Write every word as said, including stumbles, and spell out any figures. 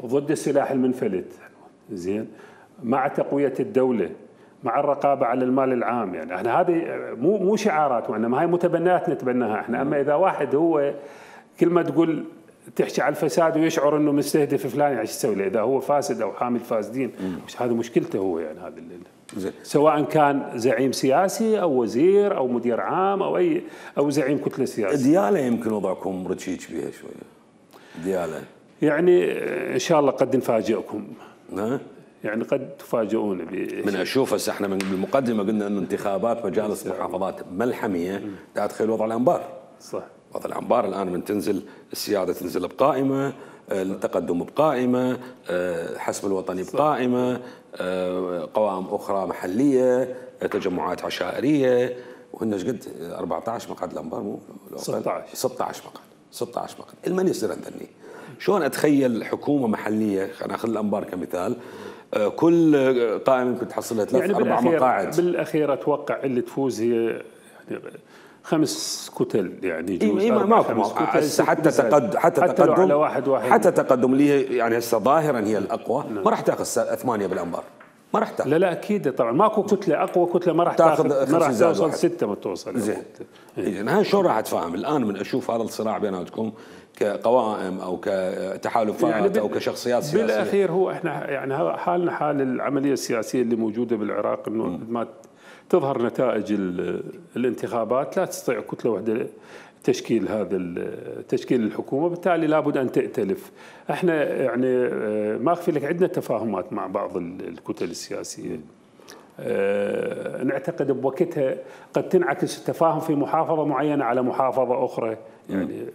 ضد السلاح المنفلت، زين، مع تقوية الدولة، مع الرقابة على المال العام. يعني احنا هذه مو مو شعارات، وانما هاي متبنيات نتبناها احنا. اما اذا واحد هو كل ما تقول تحكي على الفساد ويشعر انه مستهدف فلان، يعني ايش تسوي له؟ اذا هو فاسد او حامل فاسدين، مش هذه مشكلته هو. يعني هذا اللي سواء كان زعيم سياسي او وزير او مدير عام او اي او زعيم كتله سياسيه. دياله يمكن وضعكم رتشيك بها شويه. دياله يعني ان شاء الله قد نفاجئكم. ها؟ يعني قد تفاجئون. من اشوف هسه احنا من بالمقدمه قلنا انه انتخابات مجالس محافظات ملحميه تدخل وضع الانبار. صح. وضع الانبار الان من تنزل السياده تنزل بقائمه، التقدم بقائمه، الحسب الوطني بقائمه، قوائم اخرى محليه، تجمعات عشائريه، وهن ايش قد أربعة عشر مقعد الانبار مو ستة عشر ستة عشر مقعد ستة عشر مقعد. المن يصير عندني شلون اتخيل حكومه محليه، خلينا ناخذ الانبار كمثال، كل قائمه يمكن تحصلها ثلاث يعني اربع مقاعد. بالاخير اتوقع اللي تفوز هي يعني خمس كتل، يعني يجوز إيه ماكو هسه حتى تقدم حتى, حتى تقدم على واحد واحد حتى تقدم اللي يعني هسه ظاهرا هي الاقوى. نعم. ما راح تاخذ ثمانيه بالانبار، ما راح تاخذ. لا لا اكيد طبعا ماكو كتله اقوى كتله ما راح تاخذ، ما راح توصل سته ما توصل. زين إيه. هاي شلون راح اتفاهم الان من اشوف هذا الصراع بيناتكم كقوائم او كتحالفات يعني او كشخصيات سياسيه؟ بالاخير هو احنا يعني حالنا حال العمليه السياسيه اللي موجوده بالعراق، انه ما تظهر نتائج الانتخابات لا تستطيع كتله واحده تشكيل هذا تشكيل الحكومه، بالتالي لابد ان تأتلف. احنا يعني ما اخفي لك عندنا تفاهمات مع بعض الكتل السياسيه. أه نعتقد بوقتها قد تنعكس التفاهم في محافظه معينه على محافظه اخرى. يعني